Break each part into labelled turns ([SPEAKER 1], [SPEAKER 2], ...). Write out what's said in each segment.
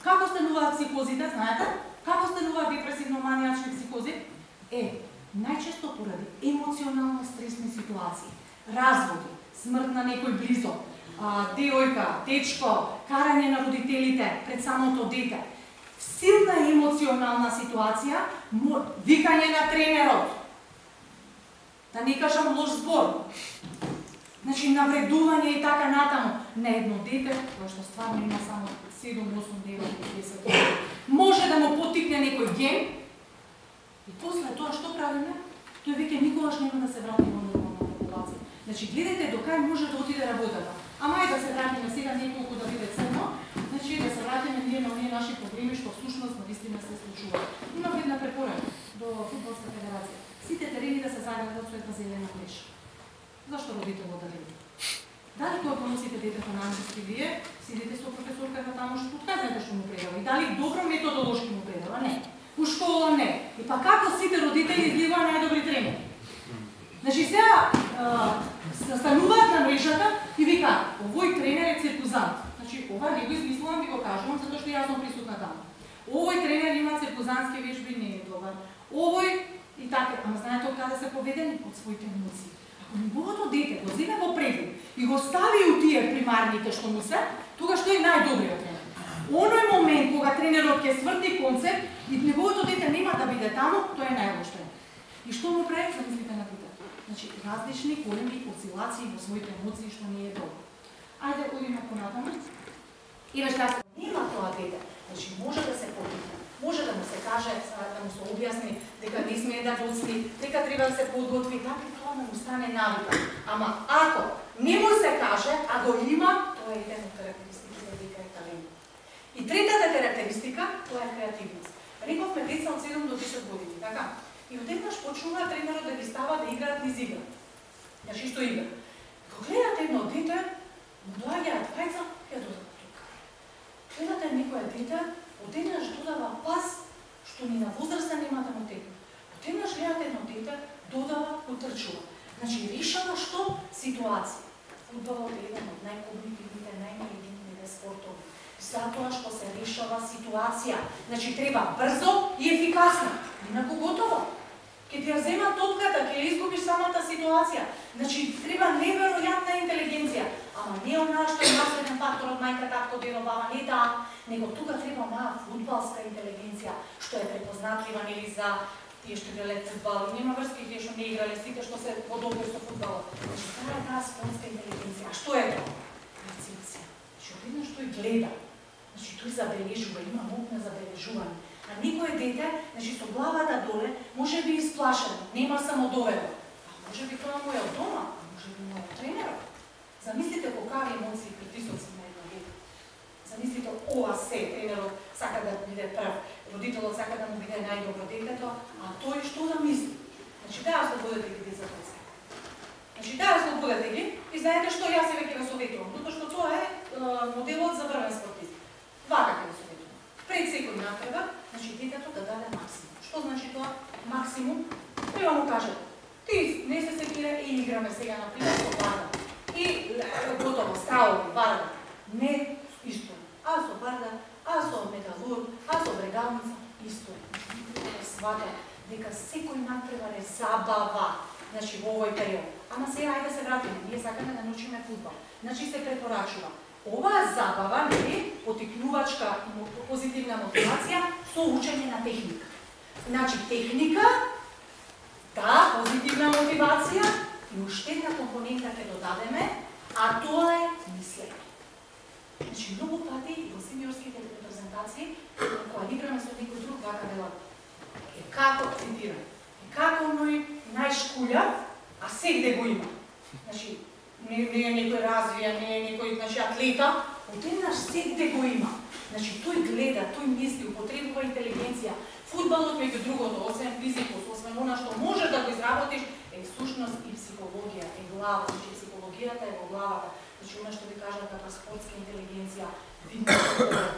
[SPEAKER 1] Како стануваат психозите, знаете? Како стануваат депресивно-манијачни психози? Најчесто поради емоционално стресни ситуации. Разводи, смрт на некој близок, девојка, дечко, карање на родителите пред самото дете. Силна емоционална ситуација, викање на тренерот, да не кажам лош збор, значи навредување и така натаму на едно дете, кое што стварно има само 7, 8, 9, 10 години, може да му потикне некој ген и после тоа што правиме? Тој веќе никогаш нема да се врати во нормална популација. Значи гледате до кај може да отиде работата. Ама ајде да се вратиме сега неколку да биде црно, значи да се вратиме ние на оние наши проблеми што всушност навистина се случува. Имам една препорака до Фудбалска федерација. Сите терени да се заградат со една зелена мрежа. Зашто родителот да гледа? Дали кога поносите детето на англиски вие, сидите со професорката таму што подказате што му предава и дали добро методолошки му предава? Не. У школа не. И па како сите родители изливаат најдобри тренери? Значи сега стануваат на мрежата и викаат, овој тренер е циркузант. Значи ова не го измислувам, ви го кажувам затоа што јас сум присутна таму. Овој тренер има циркузантски вежби, не е добар. Овој и така, ама знаете од каде се поведени? Од своите емоции. Ако неговото дете го земе во преглед и го стави у тие примарните што му се, тогаш тој е најдобриот тренер. Оној момент кога тренерот ќе сврти концепт и неговото дете нема да биде таму, тој е најлош тренер. И што му прави? Замислите на дете. Значи различни големи осцилации во своите емоции што не е добро. Ајде одиме понатаму. И веќе нема тоа дете. Значи може да се потикне. Може да му се каже, да му се објасни дека не смее да доцни, дека треба да се подготви, така тоа да му стане навика. Ама ако не му се каже, а го има, тоа е една карактеристика дека е талент. И третата карактеристика, тоа е креативност. Рековме деца од 7 до 10 години, така? И одеднаш почнува тренерот да ги става да играат низ игра. Значи што игра? Кога гледате едно дете, му доаѓаат двајца, ја додава тука. Гледате некоја дете, одеднаш додава пас, што ни на возраста нема да му текне. Одеднаш гледате едно дете, додава, утрчува. Значи решава што? Ситуација. Фудбалот е еден од најкогнитивните, најинтелигентните спортови. Затоа што се решава ситуација. Значи треба брзо и ефикасно. Инаку готово. Ке ти ја зема топката, ке ја изгубиш самата ситуација. Значи треба неверојатна интелигенција. Ама не онаа што е наследен фактор од мајка, татко, дедо, баба, не таа, него тука треба онаа фудбалска интелигенција, што е препознатлива нели за тие што играле фудбал. Нема врски тие што не играле, сите што се подобри со фудбалот. Значи таа е таа спортска интелигенција. А што е тоа? Перцепција. Значи одеднаш тој гледа. Значи тој забележува, има мок на забележување. А никое дете, значи со главата доле, може би исплашено, нема самодоверба. А може би тоа му е од дома, а може би му е од тренерот. Замислите колкави емоции и притисоци на едно дете. Замислите ова се, тренерот сака да биде прв, родителот сака да му биде најдобро детето, а тој што да мисли? Значи да ослободете ги децата. Значи да ослободете ги и знаете што јас еве ќе го советувам, затоа што тоа е моделот за врвен спортист. Вака ќе го советувам. Пред секој натреба, значи детето да даде максимум. Што значи тоа максимум? Треба му каже, ти не се секира и играме сега на пример со барда. И готово, стравови, барда. Не исто. А со барда, а со металург, а со брегалница, исто. Свата дека секој натреба е забава, значи во овој период. Ама сега ајде се вратиме, ние сакаме да научиме фудбал. Значи се препорачува. Оваа забава, нели, потикнувачка и позитивна мотивација со учење на техника. Значи техника, да, позитивна мотивација и уште една компонента ќе додадеме, а тоа е мислење. Значи многу пати и во сениорските репрезентации, кога играме со некој друг, вака велат, како цитирам, како оној најшкулјав, а сегде го има. Значи, не е некој развија, не е некој атлета, одеднаш сегде го има. Значи тој гледа, тој мисли, употребува интелигенција. Фудбалот меѓу другото, освен физикус, освен она што можеш да го изработиш, е всушност и психологија, е глава, значи психологијата е во главата. Значи она што ви кажат како спортска интелигенција,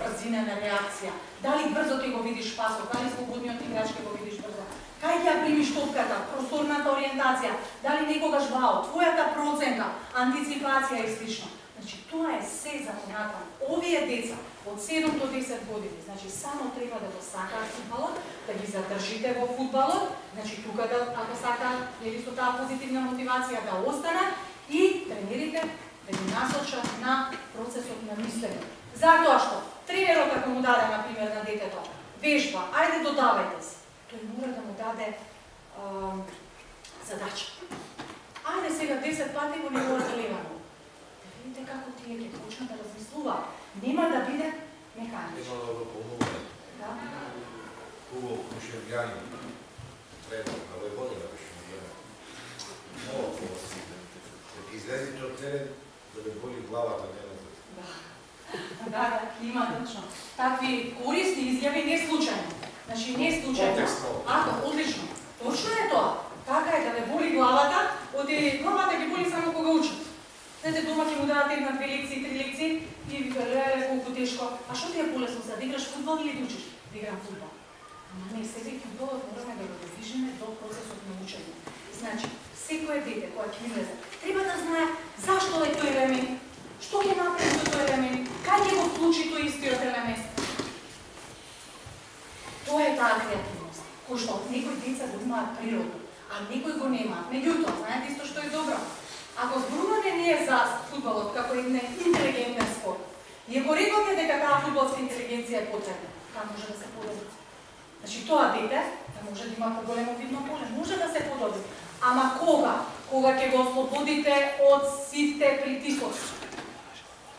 [SPEAKER 1] брзина на реакција. Дали брзо ти го видиш пасот, дали слободниот играч ќе го видиш брзо. Кај ќе ја примиш топката, просторната ориентација, дали некогаш вау, твојата проценка, антиципација и слично. Значи, тоа е се за понатаму. Овие деца од 7 до 10 години, значи само треба да го сакаат фудбалот, да ги задржите во фудбалот, значи тука да, ако сакаат, нели со таа позитивна мотивација да останат и тренерите да ги насочат на процесот на мислење. Затоа што тренерот ако му даде на пример на детето вежба, ајде додавајте се, тој мора да му даде задача. Ајде сега 10 пати во неговата левана. Видите како тие ќе почнат да размислуваат. Нема да биде механично.
[SPEAKER 2] Нема да го помогне.
[SPEAKER 1] Да.
[SPEAKER 2] Хубаво мишергјани. Треба да ве година мишергјани. Много хубаво си. Да ги излезите од терен, да ве боли главата, не назад.
[SPEAKER 1] Да, има точно. Такви корисни изјави не случајно. Значи не случајно. Ако одлично. Точно е тоа. Така е да ве боли главата, оди главата ги боли само кога учат. Знаете, дома ќе му дадат една, 2 лекции, 3 лекции и ви леле колку тешко. А што ти е полесно сега? Да играш фудбал или да учиш? Да играм фудбал. Ама не, сега и фудбалот мораме да го довижиме до процесот на учење. Значи, секое дете кое ќе излезе, треба да знае зашто е тој елемент, што ќе направи со тој елемент, кај ќе го вклучи тој истиот елемент. Тоа е таа креативност, кој што некои деца го имаат природно, а некои го немаат. Меѓутоа, знаете исто што е добро. Ако зборуваме ние за фудбалот како еден интелигентен спорт, и ако рекоме дека таа фудбалска интелигенција е потребна, како може да се подобри? Значи тоа дете да може да има поголемо видно поле, може да се подобри. Ама кога? Кога ќе го ослободите од сите притисоци.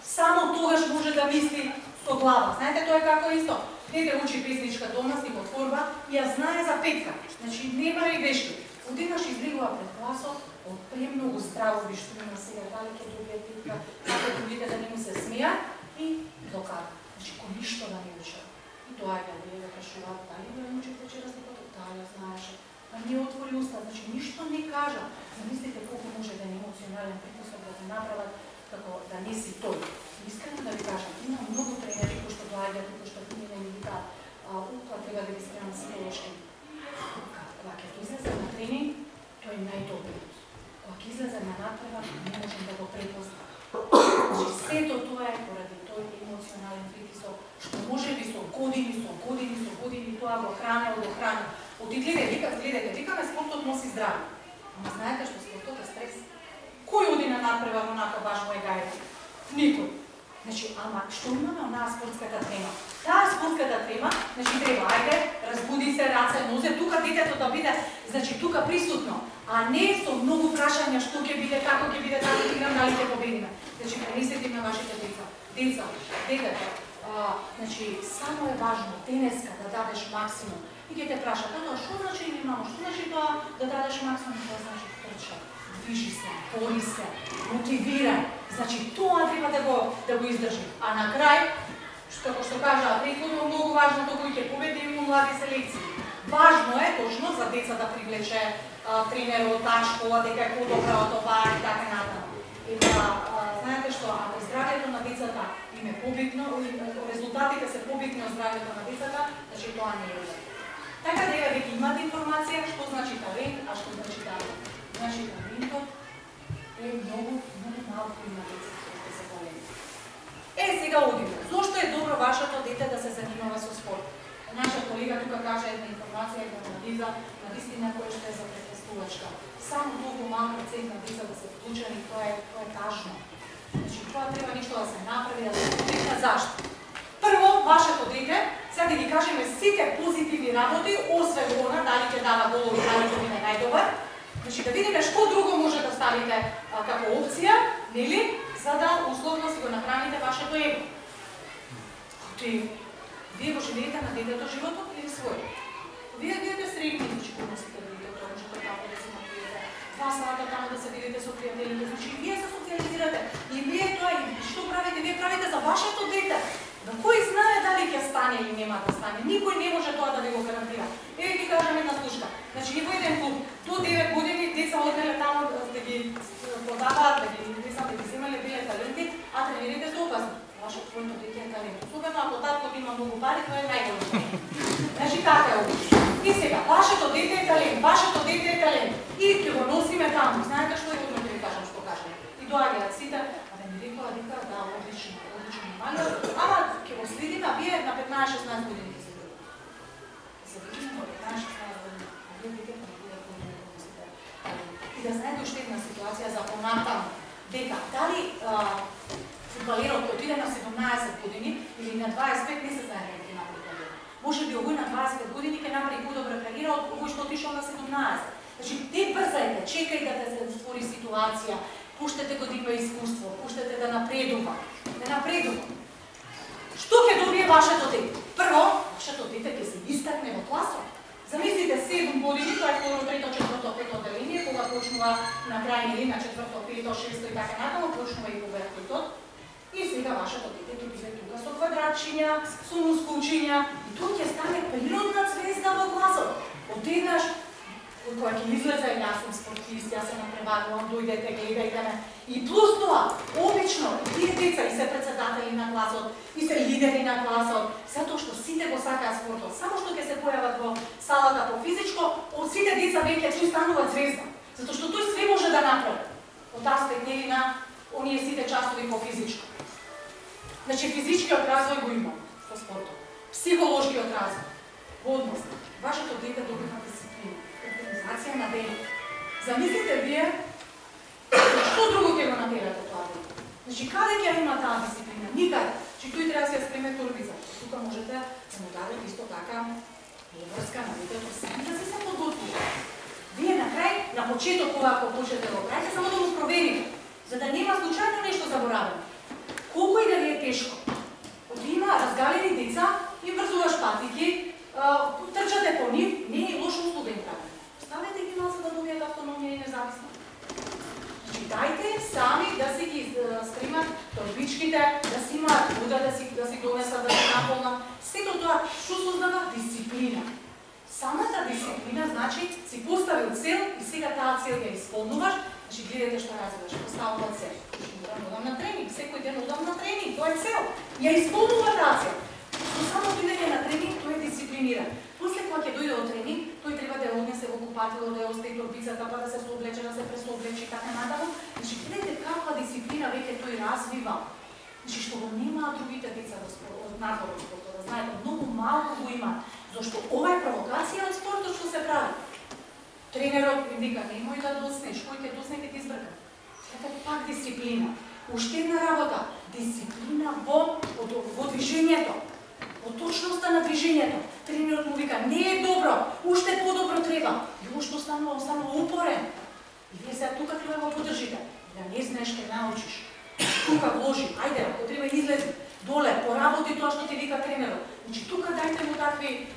[SPEAKER 1] Само тогаш може да мисли со глава. Знаете, тоа е како исто. Дете учи песничка дома, си го творба и ја знае за петка. Значи не прави грешки. Одеднаш излегува пред класот, од премногу здраво виштина сега, дали ќе добие петка, како другите да не му се смеа и докара. Значи кој ништо да не учи. И тоа е да ја прашуваат, дали да учите вчерас некото, таа ја знаеше. А не отвори уста, значи ништо не кажа. Замислите колку може да е емоционален притисок да те направат како да не си тој. Искрено да ви кажам, има многу тренери кои што доаѓаат и кои што не ми викаат, тоа треба да ги спремам психолошки. Кога ќе излезе на тренинг, тој е најдобриот. Кога ќе излезе на натпревар, не можем да го препознам. Значи сето тоа е поради тој емоционален притисок, што може би со години тоа го храни. Гледате, викаме спортот носи здраве. Ама знаете што спортот е стрес. Кој оди на натпревар онака баш му е гајде? Никој. Значи, ама што имаме онаа спортската трема? Таа спортската трема, значи треба, ајде, разбуди се, раце, нозе, тука детето да биде, значи тука присутно, а не со многу прашања што ќе биде, како ќе биде, како ќе играм, дали ќе победиме. Значи, пренесете на вашите деца. Детето, значи, само е важно денеска да дадеш максимум. И ќе те праша, тоа што значи или мамо, што значи тоа да дадеш максимум, тоа значи трча, движи се, бори се, мотивира. Значи тоа треба да го издржи. А на крај, како што кажа претходно, многу важно тоа кој ќе победи и млади селекции. Важно е точно за деца да привлече тренерот, таа школа, дека е подобра од ова и така натаму. Знаете што, ако здравјето на децата им е побитно, резултатите се побитни од здравјето на децата, значи тоа не е добро. Така дека веќе имате информација што значи талент, а што значи талент. Значи талентот е многу малку има деца кои се талент. Сега одиме. Зошто е добро вашето дете да се занимава со спорт? Наша колега тука кажа една информација, една анализа, на вистина која што е за претестувачка. Само толку малку процент на деца да се вклучени, тоа е тажно. Значи тоа треба нешто да се направи, да се вклучи. Зашто? Прво, вашето дете, сега да ги кажеме сите позитивни работи, освен она, дали ќе дава голови, дали ќе биде најдобар. Значи да видиме што друго може да ставите како опција, нели, за да условно си го нахраните вашето его. Вие го живеете на детето животот или свој? Вие бидете средни, значи кога сте детето, можете тамо да се напиете, 2 сата тамо да се видите со пријателите, значи вие се социализирате. И вие тоа, што правите? Вие правите за вашето дете. Да кој знае дали ќе стане или нема да стане? Никој не може тоа да ви го гарантира. Еве ги кажам една случка. Значи во еден клуб до 9 години деца оделе тамо да ги продаваат, да ги земале биле таленти, а тренерите се опасни. Вашето твоето дете е талент. Особено ако таткото има многу пари, тоа е најголемо. Значи така е овој. И сега, вашето дете е талент. И ќе го носиме таму. Знаете што е одно ќе ви кажам што кажам. И доаѓаат сите, а да ми рекоа дека Ама ќе го следиме, а вие на 15-16 години ќе се видите. Се видиме на 15-16 години. Вие вие и да знаете уште една ситуација за понатаму, дека дали фудбалерот кој отиде на 17 години или на 25 не се знае дека ќе направи кариера. Може би овој на 25 години ќе направи подобра кариера од овој што отишол на 17. Значи, те брзајте, чекајте да се створи ситуација, пуштете го да има искуство, пуштете да напредува. Да напредува. Што ќе добие вашето дете? Прво, вашето дете ќе се истакне во класот. Замислите 7 години, тоа е второ, трето, четврто, пето отделение, кога почнува на крај или на четврто, пето, шесто и така натаму, почнува и пубертетот. И сега вашето дете ќе биде тука со квадратчиња, со мускулчиња, и тоа ќе стане природна звезда во класот. Одеднаш, кога ќе излезе, јас сум спортист, јас се напреварувам, дојдете, гледајте ме. И плюс тоа, обично, тие деца и се председатели на класот, и се лидери на класот, затоа што сите го сакаат спортот. Само што ќе се појават во салата по физичко, од сите деца веќе тој станува звезда. Затоа што тој све може да направи. Од аспект нели на оние сите часови по физичко. Значи физичкиот развој го има со спортот. Психолошкиот развој, однос. Вашето дете добива дисциплина, организација на денот. Замислите вие што друго ќе го натерате тоа дете. Значи каде ќе има таа дисциплина? Никаде. Значи тој треба да се спреме торбица. Тука можете да му дадете исто така врска на детето сами да се подготвите. Вие на крај, на почеток кога ако почнете да го правите, само да го проверите, за да нема случајно нешто заборавено. Колку и да ви е тешко. Од има разгалени деца и врзуваш патики, трчате по нив, не е лошо услуга им прави. Ставете ги за да добијат автономија и независност. Значи, дајте сами да си ги стримат торбичките, да си имаат вода, да си донесат, да си наполнат. Сето тоа што создава дисциплина. Самата дисциплина значи си поставил цел и сега таа цел ја исполнуваш. Значи гледате што разбираш, поставува цел. Одам на тренинг, секој ден одам на тренинг, тоа е цел. Ја исполнува таа цел. Но само дојде на тренинг, тој е дисциплиниран. После кога ќе дојде од тренинг, тој треба да ја однесе во купатило, да ја остави торбицата, па да се соблече, да се пресоблече и така натаму. Значи гледате каква дисциплина веќе тој развива. Значи што го немаат другите деца од надвор од спортот, да знаете, многу малку го имаат. Зашто ова е провокација од спортот што се прави. Тренерот им вика, немој да доснеш, кој ќе досне ќе ти избрка. Ете пак дисциплина. Уште една работа, дисциплина во движењето. Во точноста на движењето. Тренерот му вика, не е добро, уште подобро треба. И уште останува упорен. И вие сега тука треба да го подржите. Да не знаеш ке научиш. Тука вложи, ајде, ако треба излези доле, поработи тоа што ти вика тренерот. Значи тука дајте му такви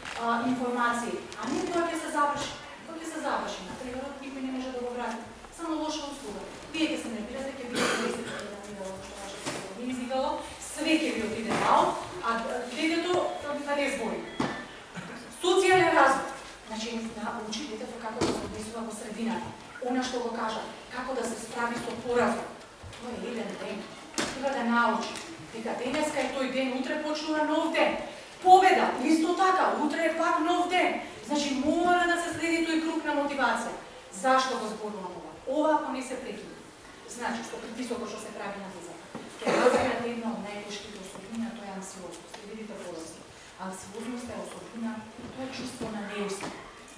[SPEAKER 1] информации, а не тоа ќе се заврши. Тоа ќе се заврши, на тренерот никој не може да го врати. Само лоша услуга. Вие ќе се нервирате, ќе бидете месеци да не изиграло, све ќе ви отиде нао, а детето да не збори. Социјален развој. Значи, учи детето како да се однесува во средината. Она што го кажа, како да се справи со поразот. Тоа е еден ден. Треба да научи. Дека денеска е тој ден, утре почнува нов ден. Победа, исто така, утре е пак нов ден. Значи, мора да се следи тој круг на мотивација. Зашто го зборувам ова? Ова ако не се прекине. Значи, што притисокот што се прави на децата. Ке развијат една од најтешките особина, тоа е анксиозност. Видите полоси. Анксиозност е особина, тоа е чувство на неуспех.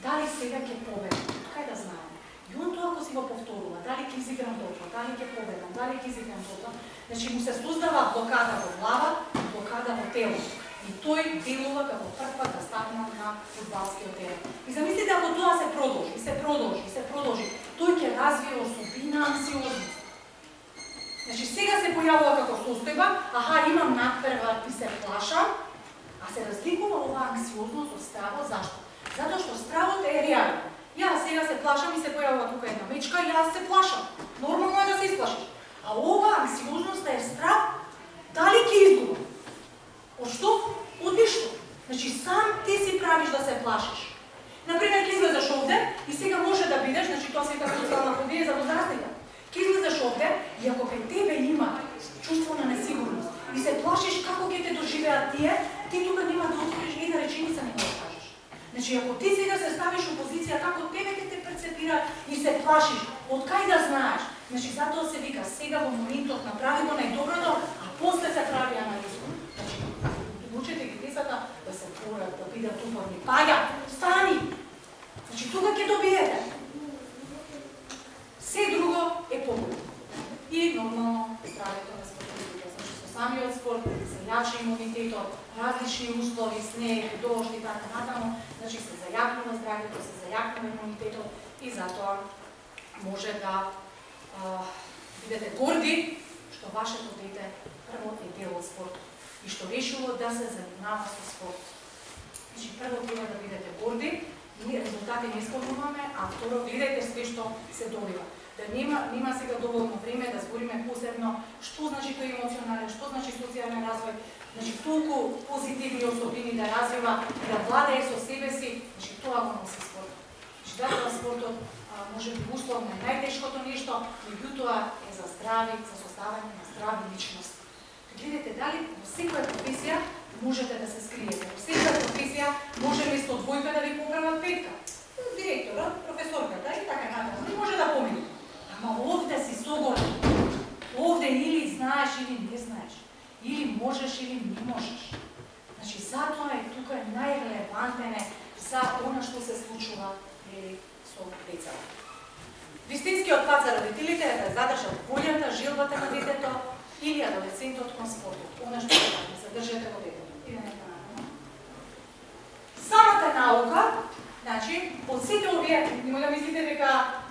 [SPEAKER 1] Дали сега ќе победам? Кај да знаем? И он тоа ако си го повторува, дали ќе изиграм тоа, дали ќе победам, дали ќе изиграм тоа, значи му се создава блокада во глава, блокада во тело. И тој делува како прв да стапна на фудбалскиот терен. И замислите ако тоа се продолжи, тој ќе развие особина анксиозност. Значи сега се појавува како состојба, аха, имам надпревар и се плашам, а се разликува оваа анксиозност од стравот. Зашто? Затоа што стравот е реален. Јас сега се плашам и се појавува тука една мечка и јас се плашам. Нормално е да се исплашиш. А ова анксиозност е страв, дали ќе изгубам? Од што? Од ништо. Значи сам ти си правиш да се плашиш. Например, ќе излезеш овде и сега може да бидеш, значи тоа се како социјална фобија за возрастните. Ќе излезеш овде и ако кај тебе има чувство на несигурност и се плашиш како ќе те доживеат тие, ти тука нема да отвориш една реченица не можеш да кажеш. Значи ако ти сега се ставиш во позиција како тебе ќе те перцепира и се плашиш, од кај да знаеш? Значи затоа се вика сега во моментот направи го најдоброто, а после се прави анализа. бидат упорни. Паѓа, стани! Значи, тука ќе добиете. Се друго е побољно. И нормално здравето на спортистите. Значи, со самиот спорт се јачи имунитетот, различни услови, снег, дожд и така натаму, значи се зајакнува здравето, се зајакнува имунитетот и затоа може да бидете горди што вашето дете прво е дел од спорт и што решило да се занимава со спорт. Значи, прво треба да бидете горди, ние резултати не спомнуваме, а второ, гледајте све што се добива. Да нема сега доволно време да збориме посебно што значи тој емоционален, што значи социјален развој, значи толку позитивни особини да развива, да владее со себе си, значи тоа го носи спорт. Значи затоа спортот може би условно е најтешкото нешто, меѓутоа е за здрави, за создавање на здрави личности. Гледате дали во секоја професија можете да се скриете. Во секоја професија може место двојка да ви поправат петка. Директорот, професорката и така натаму. Не може да помине. Ама овде си согорен. Овде или знаеш или не знаеш. Или можеш или не можеш. Значи затоа е тука најрелевантен за она што се случува со децата. Вистинскиот пат за родителите е да задржат волјата, желбата на детето или адолесцентот кон спортот. Она што се задржете во детето. Самата наука, значи, од сите овие, нема да мислите дека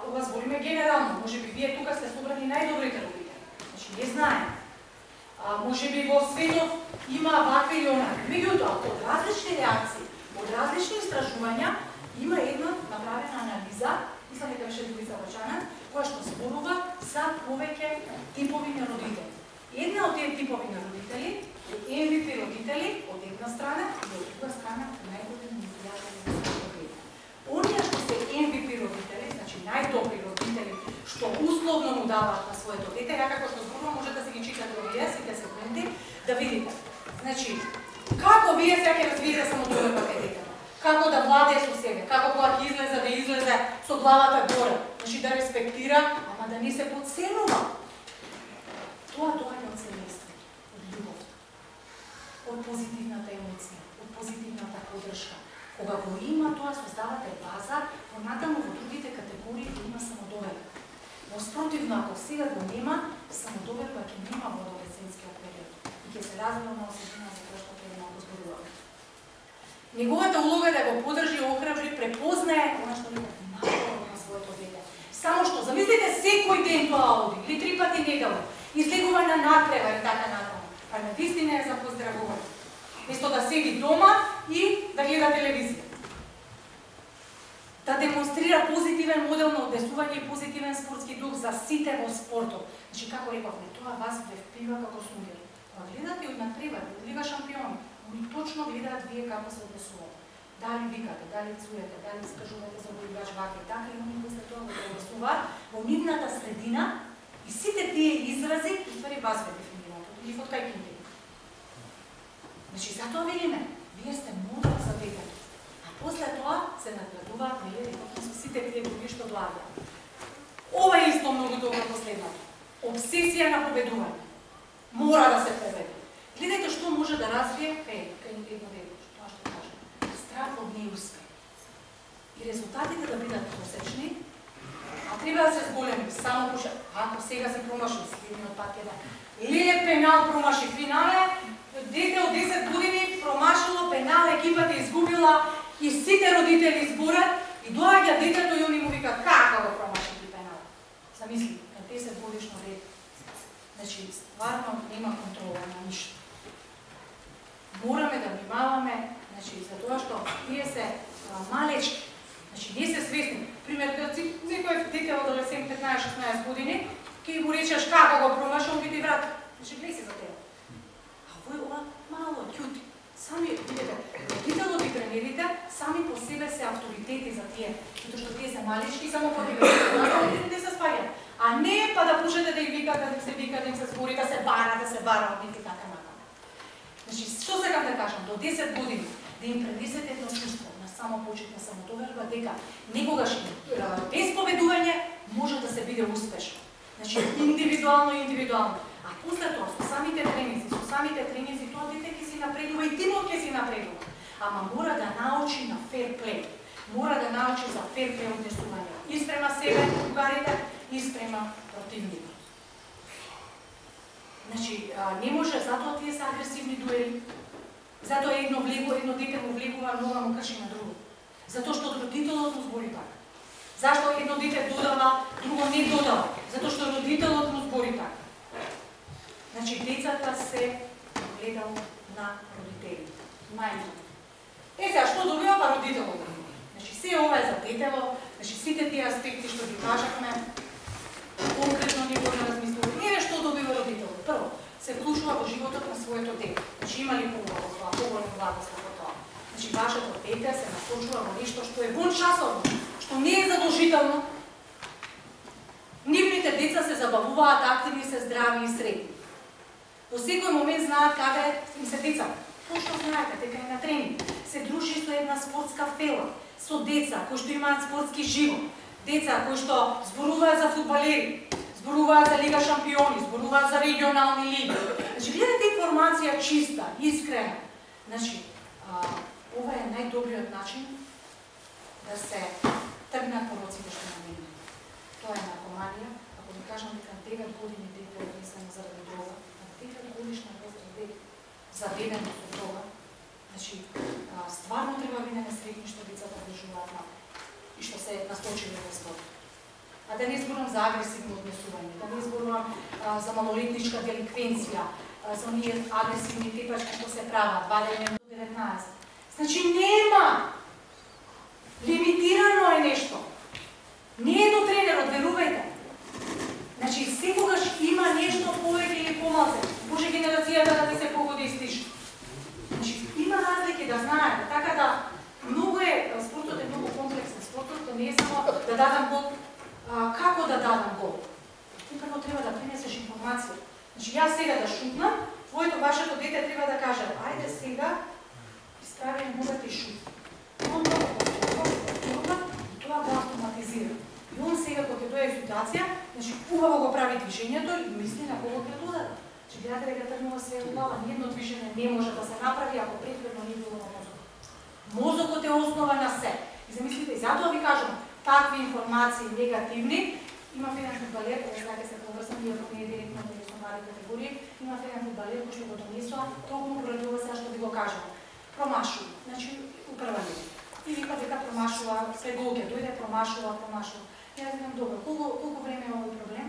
[SPEAKER 1] ова збориме генерално, може би вие тука сте собрани најдобрите родители. Значи, не знаеме. Може би во светот има вакви или онакви. Меѓутоа, од различни реакции, од различни истражувања, има една направена анализа, мислам дека беше Луиза Бачана, која што зборува за повеќе типови на родители. Една од тие типови на родители е MVP родители од една страна и од друга страна најдобри пријатели на родители. Оние што се MVP родители, значи најдобри родители, што условно му даваат на своето дете, ја како што зборувам, може да се ги читате овие сите сегменти, да видите. Значи, како вие сега ќе развиете самодоверба кај детето? Како да владее со себе, како кога ќе излезе да излезе со главата горе, значи да респектира, ама да не се подценува. Тоа доаѓа од семејство, од љубов, од позитивната емоција, од позитивната поддршка. Кога го има тоа, создавате база, понатаму во другите категории го има самодоверба. Но спротивно, ако сега го нема, самодоверба ќе нема во адолесцентскиот период и ќе се развива на осетина за тоа што ќе малку зборуваме. Неговата улога е да го поддржи, охрабри, препознае она што не најдобро на своето дете. Само што, замислите секој ден тоа оди, или 3 пати неделно, излегува на надпревар и така натаму. Па на вистина е за поздравување. Место да седи дома и да гледа телевизија. Да демонстрира позитивен модел на однесување и позитивен спортски дух за сите во спортот. Значи, како рековме, тоа вас ве впива како сунгер. Кога гледате од надпревар, од Лига шампиони, они точно гледаат вие како се однесувате. Дали викате, дали цуете, дали скажувате за играч вака и така, и они после тоа го однесуваат во нивната средина и сите тие изрази, уствари вас ве дефинираат, или од кај книги. Значи, затоа велиме, вие сте модел за детето. А после тоа се надградуваат со сите тие други што доаѓаат. Ова е исто многу добро последното. Обсесија на победување. Мора да се победи. Гледајте што може да развие кај едно дете, тоа што кажам. Страх од неуспех. И резултатите да бидат просечни, а треба да се зголеми. Само пуша, ако сега се промаши, следниот пат е да леле пенал промаши финале, дете од 10 години промашило пенал, екипата изгубила и сите родители зборат и доаѓа детето и они му викаат како го промаши ти пенал. Замисли, на 10 годишно дете. Значи, стварно нема контрола на ништо. Мораме да внимаваме, значи, за тоа што тие се малечки, значи, не се свесни. Пример, некој дете од адолесцент 15-16 години, ќе му речеш како го промаши, он би ти врати. Значи, гледај се за тебе. А овој ова мало, ќути. Сами, видите, родителот и тренерите сами по себе се авторитети за тие, затоа што тие се малечки, само по тебе се спаѓаат. А не па да пушете да им викате, да се вика, да им се збори, да се бара од нив и така натаму. Значи, што сакам да кажам, до 10 години да им пренесете едно чувство на самопочетна самодоверба дека некогаш без победување може да се биде успешно. Значи, индивидуално. А после тоа, со самите тренинзи, тоа дете ќе си напредува и тимот ќе си напредува. ама мора да научи на фер плей. Мора да научи за фер плей однесување. И спрема себе, другарите, и спрема противникот. Значи, не може, затоа тие се агресивни дуели, затоа едно дете му влегува, нога му крши на друго. Затоа што родителот му збори така. Зашто едно дете додава, друго не додава? Затоа што родителот му збори така. Значи, децата се гледало на родителите. Најдно. Сега, што добива па родителот? Значи, се ова е за детево, значи, сите тие аспекти што ги кажахме, конкретно ниво на размислување. Еве што добива родителот. Прво, се вклучува во животот на своето дете. Значи, има ли поголем благослов во тоа? Значи, вашето дете се насочува во нешто што е вон часовно, што не е задолжително. Нивните деца се забавуваат, активни се, здрави и средни. Во секој момент знаат каде им се деца. Точно знаете, дека е на тренинг. Се дружи со една спортска фела, со деца кои што имаат спортски живот, деца кои што зборуваат за фудбалери, зборуваат за Лига шампиони, зборуваат за регионални лиги. Значи, гледате информација чиста, искрена. Значи, ова е најдобриот начин да се тргнат пороците што наменува. Тоа е наркоманија. Ако ви кажам дека 9 години дете е однесено заради дрога, 9 годишна возраст дете заведено со дрога, значи, стварно треба видеме средни што децата држуваат на и што се насточени во спорт. А да не зборувам за агресивно однесување, да не зборувам за малолетничка деликвенција, за оние агресивни типачки што се прават, 20 до 19. Значи нема! Лимитирано е нешто. Не е до тренерот, верувајте. Значи секогаш има нешто повеќе или помалку. Може генерацијата да ти се погоди и слиш. Значи има разлики да знаете, така да многу е, спортот е многу комплексен. Спортот не е само да дадам гол, како да дадам гол. Ти прво треба да пренесеш информација. Значи јас сега да шутнам, вашето дете треба да каже, ајде сега изправи ногата и шут. Он тоа го автоматизира. И он сега кога ќе дојде ситуација, значи убаво го прави движењето и мисли на кого ќе удара. Че гледате дека тргнува све во глава, ниедно движење не може да се направи ако претходно не било на мозокот. Мозокот е основа на се. И замислите, и затоа ви кажам, такви информации негативни, има еден фудбалер, кој знаете се поврзан, иако не е директно во национални категории, има еден фудбалер кој што го донесува, толку поради ова сега што ви го кажам. Промашува, значи управање. И вика дека промашува, се гол ќе дојде, промашува. Јас викам, добро, колку време е овој проблем?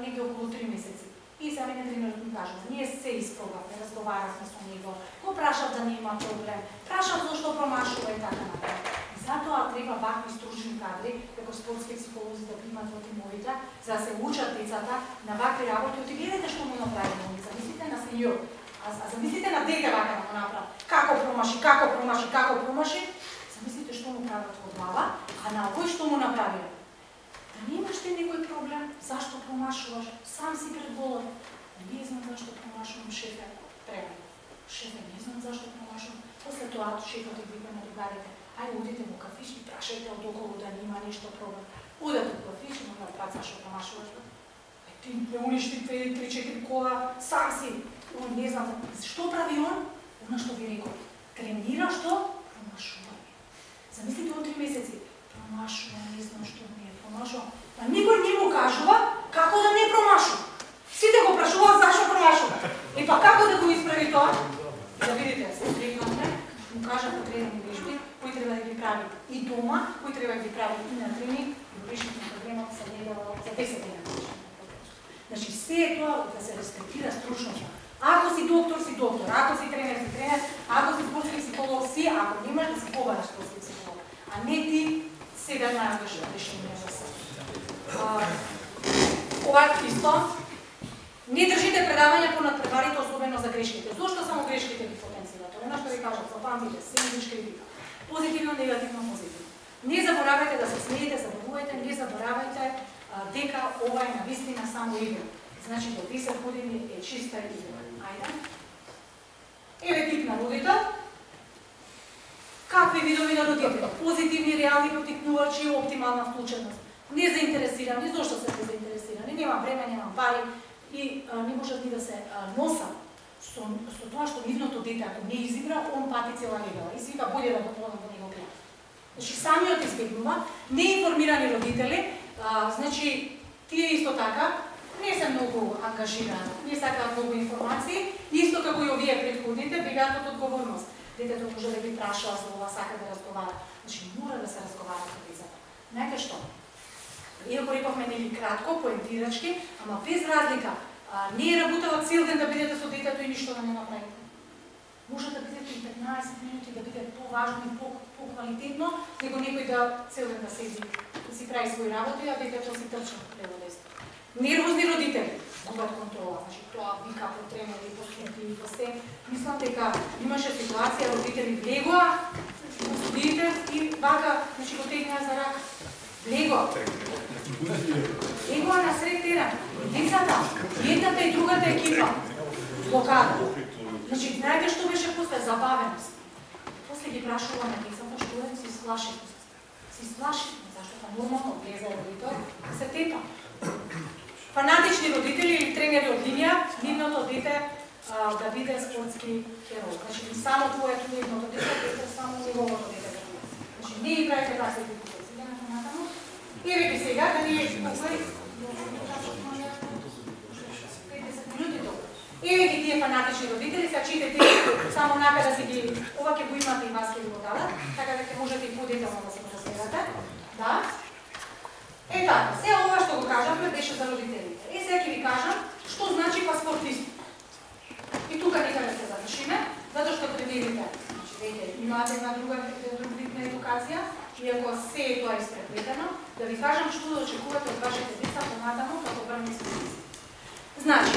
[SPEAKER 1] Негде околу 3 месеци. И за мене тренерот ми кажува, ние се испробавме, разговаравме со него, го прашав да не има проблем, прашав зашто промашува и така напред. Затоа треба вакви стручни кадри, како спортски психолози да примат во тимовите, за да се учат децата на вакви работи. Оти гледате што му направи моми, замислите на сеньор, а замислите на дете вака да му направи. Како промаши, замислите што му прават во глава, а на овој што му направи. Да немаш ти некој проблем, зашто промашуваш, сам си пред голот. Не знам зашто промашувам, шефе, треба. Шефе, не знам зашто промашувам. После тоа шефот ги вика на другарите, ајде одите во кафиш и прашајте од околу да нема нешто проблем. Одете во кафиш и му направат зашто промашуваш. Ти ме уништи 2-3-4 кола, сам си. Он не знам, што прави он? Она што ви рекол. Тренира што? Промашување. Замислите он 3 месеци. Промашува, не знам што ми е, промашува. А никој не му кажува како да не промашува. Сите го прашуваат зашто промашува. И па како да го исправи тоа? Да видите, се срекнавме, му кажат потребни вежби, кои треба да ги прави и дома, кои треба да ги прави и на тренинг, и решите на проблемот се недава за 10 дена. Значи, се е тоа да се респектира стручноста. Ако си доктор, ако си тренер, ако си спортски психолог, си, ако немаш да си побараш спортски психолог. А не ти сега најдеш решение за се. Ова исто, не држите предавања по надпреварите, особено за грешките. Зошто само грешките ги потенцирате? Она што ви кажат, запамтите, сендвич критика. Позитивно, негативно, позитивно. Не заборавајте да се смеете, забавувајте, не заборавајте дека ова е навистина само игра. Значи, до 10 години е чиста игра. Ајде. Еве тип на родител. Какви видови на родител? Позитивни, реални поттикнувачи, оптимална вклученост. Незаинтересирани, зошто се незаинтересирани? Нема време, нема пари и не можат ни да се носат со тоа што нивното дете, ако не изигра, он пати цела недела. И си вика, болje да го продам да не го гледам. Значи, самиот избегнува, неинформирани родители, значи, тие исто така, не се многу ангажирани, не сакаат многу информации, исто како и овие претходните, бегаат од одговорност. Детето може да ги прашува за ова, сака да разговара. Значи, мора да се разговара со децата. Знаете што? Иако рековме нели кратко, поентирачки, ама без разлика, не е работела цел ден да бидете со детето и ништо да не направите. Може да бидете и 15 минути, да биде поважно и поквалитетно, него некој да цел ден да седи, да си прави своји работи, а детето си трча лево десно. Нервозни родители губат контрола, значи тоа вика по тремори, по смети и по се. Мислам дека имаше ситуација, родители влегоа, судите и вака, значи го тегнаа за рака. Влегоа. Влегоа на сред терен. Децата, едната и другата екипа, блокада. Значи, знаете што беше после? Забавеност. После ги прашуваме децата, што е, си сплашени. Си сплашени, зашто па нормално влезе родител, се тепа. Фанатични родители или тренери од линија, нивното дете да биде спортски херој. Значи, само твоето нивното дете, само неговото дете да биде. Значи, не играјте разлики по тоа. Сега натаму. Еве ги сега, да ни еве ги тие фанатични родители, сега читате само нака да си ги, ова ќе го имате и вас ќе го дадат, така да ќе можете и подетално да се посведате. Да? Така, се ова што го кажавме беше за родителите. Сега ќе ви кажам што значи паспортист. И тука некаде се завршиме, затоа што тренерите, значи веќе имате една друг вид на едукација, иако се е тоа испреплетено, да ви кажам што да очекувате од вашите деца понатаму како врвни спортисти. Значи,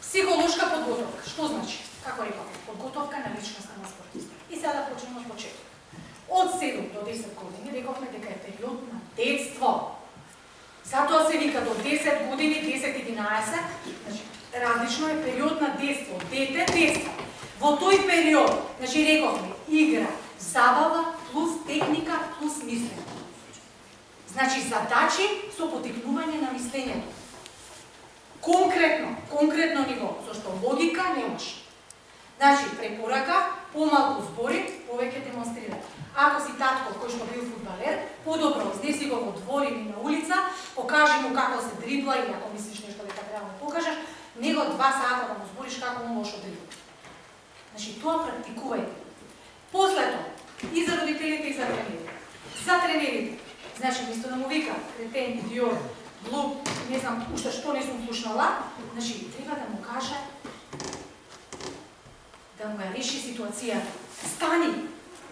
[SPEAKER 1] психолошка подготовка. Што значи? Како реков, подготовка на личноста на спортиста. И сега да почнеме од почеток. Од 7 до 10 години рековме дека е период на детство. Затоа се вика до 10 години, 10-11, значи различно е период на детство, дете, детство. Во тој период, значи рековме, игра, забава плюс техника плюс мислење. Значи задачи со потикнување на мислењето. Конкретно ниво, зашто логика немаш. Значи, препорака, помалку збори, повеќе демонстрира. Ако си татко кој што бил фудбалер, подобро изнеси го во двор или на улица, покажи му како се дрибла или ако мислиш нешто дека треба да му покажеш, него 2 сата да му збориш како он лошо дрибла. Значи, тоа практикувајте. После тоа, и за родителите и за тренерите. За тренерите, значи, мисто да му вика кретен, идиот, глуп, не знам уште што не сум слушнала, значи, треба да му каже да му ја реши ситуацијата. Стани,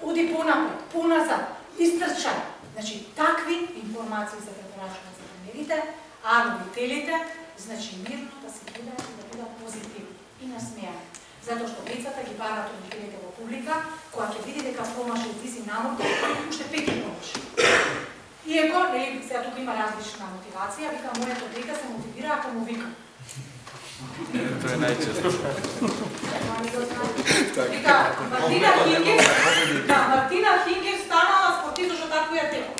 [SPEAKER 1] оди понапред, поназад, истрчај. Значи, такви информации се препорачуват за тренерите, а родителите, значи, мирно да се гледаат и да бидат позитивни и насмеани. Затоа што децата ги барат родителите во публика, кога ќе види дека промаши ти си намор, уште пети промаши. Иако, нели, сега тука има различна мотивација, вика, моето дете се мотивира ако му вика.
[SPEAKER 3] Тоа е најчесто.
[SPEAKER 1] Вика, Мартина Хингев станала спортист што тако ја тепа.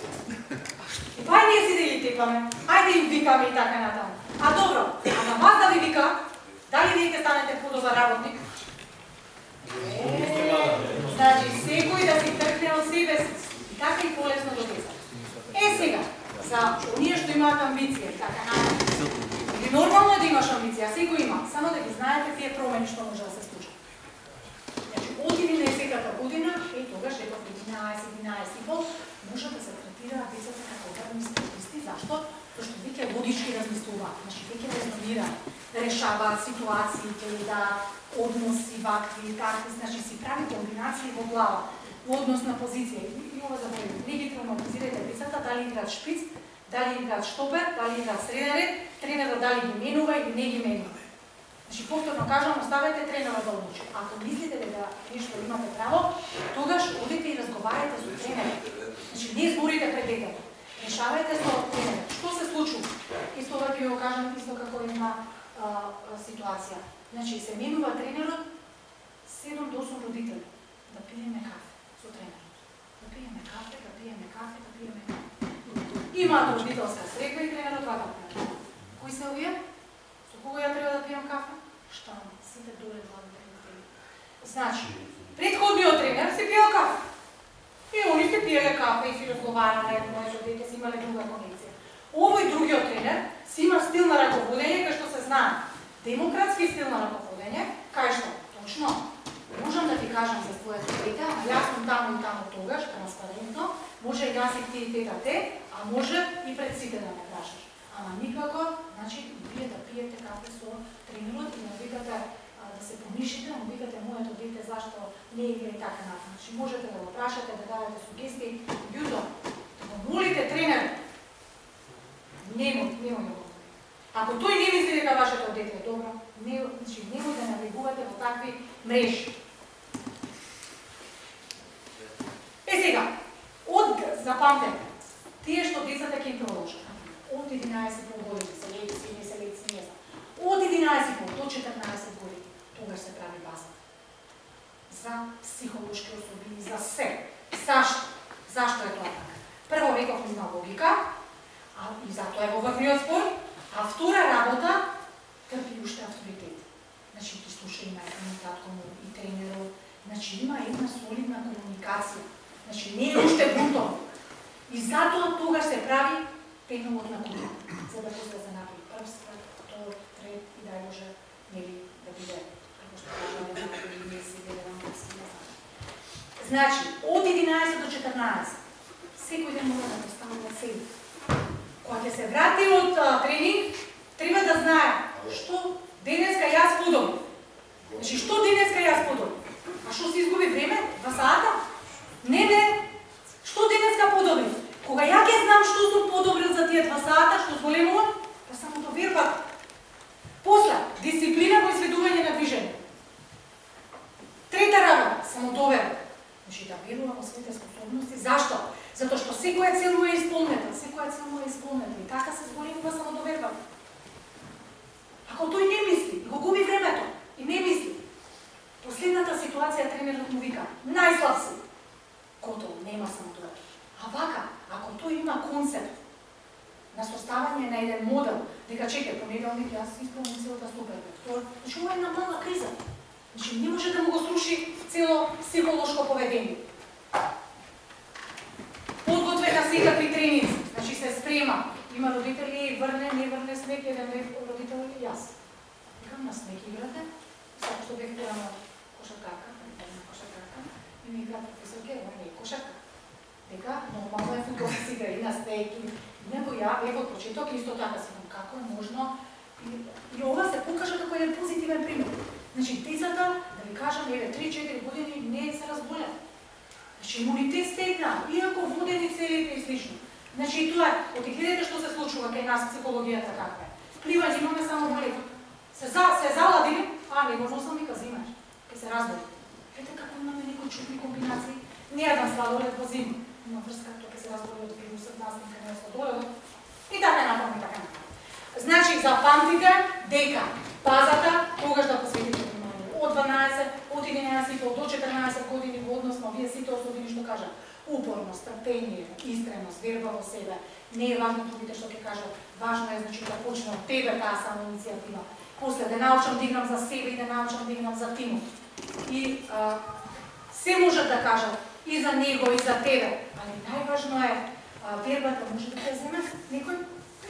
[SPEAKER 1] И па ние си да ги тепаме, ајде им викаме и така натаму. А добро, ама вас да ви вика, дали вие ќе станете подобар работник? Значи, секој да си тркне од себе си. И така и полесно до деца. Сега, за оние што имаат амбиција, така натаму. И нормално е да имаш амбиција, секој има, само да ги знаете тие промени што може да се случат. Значи, од 11-та година, тогаш реков 11-11,5, може да се третираат децата како врвни спортисти. Зашто? Зашто веќе логички размислуваат, значи веќе резонираат, решаваат ситуациите, да односи вакви, такви, значи си прави комбинации во глава, во однос на позиција. И ова забавим, не ги травматизирате децата, дали играат шпиц, дали играат штопер, дали играат среден ред, тренерот дали ги менува или не ги менува. Значи, повторно кажам, оставете тренерот да одлучи. Ако мислите дека нешто имате право, тогаш одите и разговарате со тренерот. Значи, не зборите пред детето. Решавајте со тренерот. Што се случува? Исто ова ќе го кажам, исто како една ситуација. Значи, се менува тренерот 7 до 8 родители да пиеме кафе со тренерот. Да пиеме кафе, да пиеме кафе, да пиеме кафе. Имаат родителска средба и тренерот вака. Кои се овие? Со кого ја треба да пијам кафе? Штанец. сите доле главните родители. Значи, предходниот тренер си пиел кафе. И они сте пиеле кафе и си разговарале, моето дете си имале друга конекција. Овој другиот тренер си има стил на раководење кај што се знае. Демократски стил на раководење, кај што точно можам да ти кажам за твоето дете, а јас сум таму и таму тогаш, транспарентно, може и јас и ти и тета те, а може и пред сите да ме прашаш. Ама никако, значи, вие да пиете кафе со тренерот и да викате да се помишите, да му викате моето дете зашто не игра и така натаму. Значи, можете да го прашате, да дадете сугестии, јуто, да го молите тренер, немој да го. Ако тој не мисли дека вашето дете е добро, значи, немој да навигувате во такви мрежи. Сега, запамтете, тие што децата ќе им продолжат, од 11,5 години, се леци, не знам, од 11,5 до 14 години, тогаш се прави база. За психолошки особини, за се. Зашто? Зашто е тоа така? Прво реков има логика, и затоа е во врвниот спор, а втора работа трпи уште авторитет. Значи, ти слуша има и татко му, и тренерот, значи има една солидна комуникација. Значи, не е уште бунтовно. И затоа тогаш се прави пеновот на куќа, за да после се направи прв спрат, втор, трет и да може да биде, како што кажа, да се гледам да се не знам. Значи, од 11 до 14, секој ден мора да постави на себе. Кога ќе се врати од тренинг, треба да знае што денеска јас подобрив. Значи, што денеска јас подобрив? А што се изгуби време? 2 сата? Не, што денеска подобрив? Кога ја ќе знам што сум подобрил за тие 2 сата, што зголемувам, па самодоверба. После, дисциплина во изведување на движење. Трета работа, самодоверба. Значи, да верувам во своите способности. Зашто? Затоа што секоја цел му е исполнета, и така се зголемува самодоверба. Ако тој не мисли, го губи времето, и не мисли, последната ситуација тренерот му вика, најслаб си. Готово, нема самодоверба. А вака, ако тој има концепт на составање на еден модел, дека чекај, понеделник јас исполним целата супер, значи ова е една мала криза. Значи не може да му го сруши цело психолошко поведение. Подготвена секакви тренинзи, значи се спрема. Има родители, врне, не врне снег, еден родител и јас. Викам на снег играте, само што бех на кошаркарка, и ми игра професорке, не е кошарка. Дека, нормално е футбол се игра и на снег, него ја бех од почеток исто така си кажам, како е можно, и ова се покажа како еден позитивен пример. Значи, децата, да ви кажам, 3-4 години не се разболеа. Значи, имунитет стегна, иако водени целите и слично. Значи, тоа е, оти гледате што се случува кај нас психологијата каква е. Пливање имаме само болето. Се заладили, не можно сам вика зимаш, ке се разболи. Ете како имаме некои чудни комбинации, не еден сладолед во зима. Има врска, тоа ке се разболи од вирусот, настинка не е сладоледот. И така натаму, и така натаму. Значи, запамтите дека базата тогаш да посветите внимание. Од 12, од 11 до 14 години во однос на овие сите особини што кажа. Упорност, трпение, искреност, верба во себе. Не е важно другите што ќе кажат. Важно е значи да почне од тебе таа самоиницијатива. После да научам да играм за себе и да научам да играм за тимот. И се можат да кажат и за него и за тебе, али најважно е вербата може да те земе некој.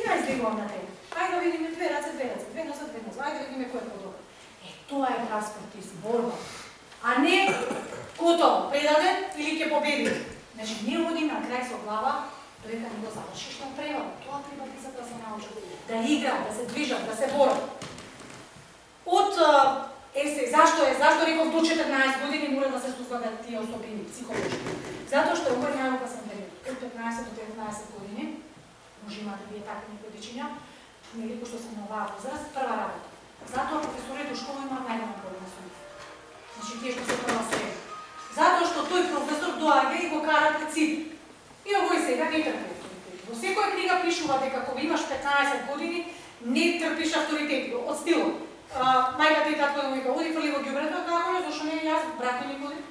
[SPEAKER 1] Ја излегувам на тебе. Ајде да видиме две раце, две носа, ајде да видиме кој е подобро. Тоа е прав спортист, борба. А не готово, предаден или ќе победи. Значи, не оди на крај со глава, додека не го завршиш на превод. Тоа треба децата да се научат. Да играат, да се движат, да се борат. Зашто реков до 14 години мора да се создадат тие особини психолошки? Затоа што овој најопасен период, од 15 до 19 години, може имате вие такви некои дечиња, нели кои што се на оваа возраст, прва работа. Затоа професорите во школа имаат најголем проблем со нив. Значи тие што се прва среда. Затоа што тој професор доаѓа и го кара пред сите. И овој сега не трпи авторитет. Во секоја книга пишува дека кога имаш 15 години не трпиш авторитет. Од стилот. Мајката и татко да му вика, оди фрли во ѓубрето, како не, зашто не јас, брат ми никоди.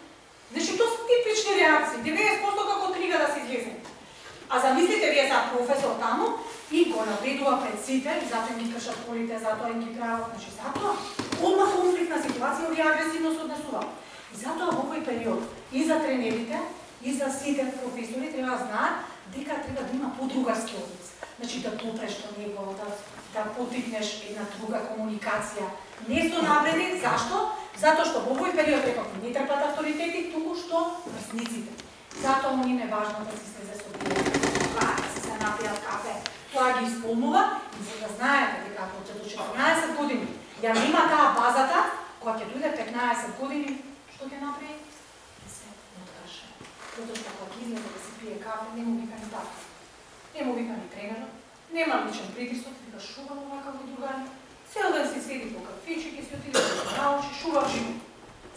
[SPEAKER 1] Значи тоа се типични реакции, 90% како книга да се излезе. А замислите вие за професор таму и го навредува пред сите, и затоа им ги кршат полите, затоа им ги прават, значи затоа одма конфликтна ситуација или агресивно се однесува. И затоа во овој период и за тренерите, и за сите професори треба да знаат дека треба да има подругарски однос. Значи да попреш до него, да потикнеш една друга комуникација. Не со навреди, зашто? Затоа што во овој период реков не трпат авторитети, туку што врсниците. Затоа им е важно да се слезе со пријатели, да се напијат кафе. Тоа ги исполнува и за да знаете дека ако до 14 години ја нема таа базата, кога ќе дојде 15 години, што ќе направи? Се откаже. Затоа што кога излезе да се пие кафе, не му вика ни тата. Не му вика ни тренерот, нема личен притисок, вика шувам овака во другари. Цел ден си седи по кафички, си отиде да се научи, шував живот.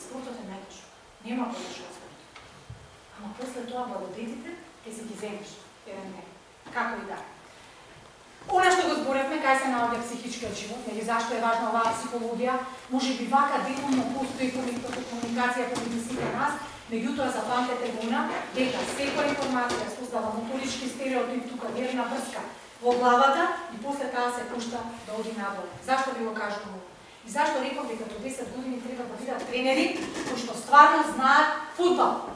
[SPEAKER 1] Спортот е најтешко. Нема подош од спортот. Ама после тоа благодетите ќе си ги земеш еден ден. Како и да. Она што го зборевме, кај се наоѓа психичкиот живот, нели зашто е важна оваа психологија, можеби вака делумно постои комуникација помеѓу сите нас, меѓутоа запамтете го дека секоја информација создава моторички стереотип, тука нервна врска во главата и после таа се пушта да оди надолу. Зашто ви го кажувам? И зашто реков дека до 10 години треба да бидат тренери кои што стварно знаат фудбал.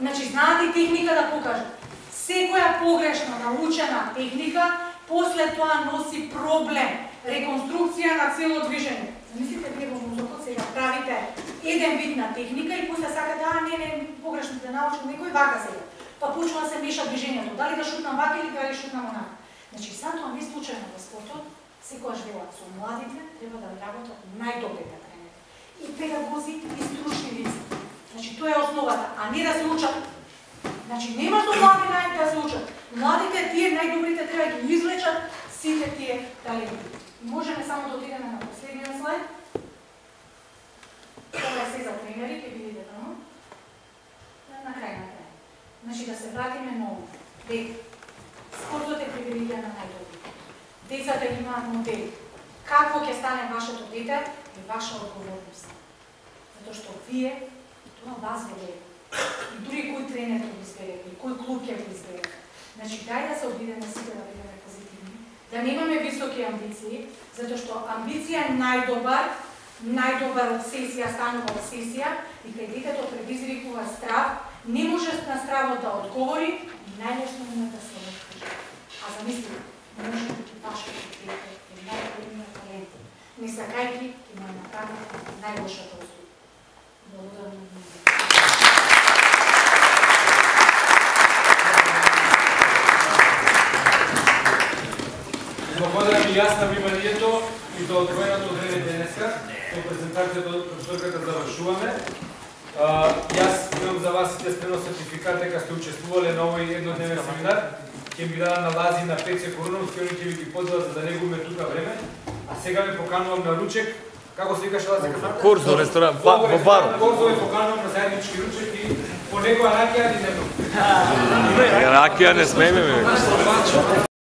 [SPEAKER 1] Значи знаат и техника да покажат. Секоја погрешно научена техника после тоа носи проблем, реконструкција на цело движење. Замислите вие во мозокот сега правите еден вид на техника и после сакате, не, погрешно да научил некој вака сега. Па почнува да се меша движењето, дали да шутнам вака или дали шутнам онака. Значи, затоа не случајно во спортот, секојаш велат со младите треба да работат најдобрите тренери. И педагози, и стручни лица. Значи, тоа е основата, а не да се учат. Значи, нема со млади да се учат. Младите, тие најдобрите треба да ги излечат сите тие таленти. Можеме само да отидеме на последниот слайд. Тоа е се за тренери, ќе видите таму. На крај. Значи, да се вратиме ново. Дека спортот е привилегија на најдобрите. Децата имаат модели. Какво ќе стане вашето дете е ваша одговорност. Затоа што вие, тоа вас велете. И дури кој тренер ќе го избере, и кој клуб ќе го избере. Значи, дај да се обидеме сите да бидеме позитивни, да немаме високи амбиции, затоа што амбиција е најдобар обсесија станува обсесија и кај детето предизвикува страв, не може на стравот да одговори и најлесно има да се откаже. А замислите, може би вашето дете е најголемиот талент. Не сакајки ќе му направи најлошата услуга. Благодарам на вниманието.
[SPEAKER 4] Благодарам и јас на вниманието и за одвоеното време денеска. Со презентацијата од професорката завршуваме. Јас имам за вас сите спремно сертификат дека сте учествувале на овој еднодневен семинар. Ќе ми дадат на Лази на Пеце Коруновски, они ќе ви ги подадат за да не губиме тука време. А сега ме поканувам на ручек. Како се викаше Лази?
[SPEAKER 3] Корзо, ресторан, во баро.
[SPEAKER 4] Корзо ме поканувам на заеднички ручек и по некоја ракија ни не.
[SPEAKER 3] Ракија не смееме.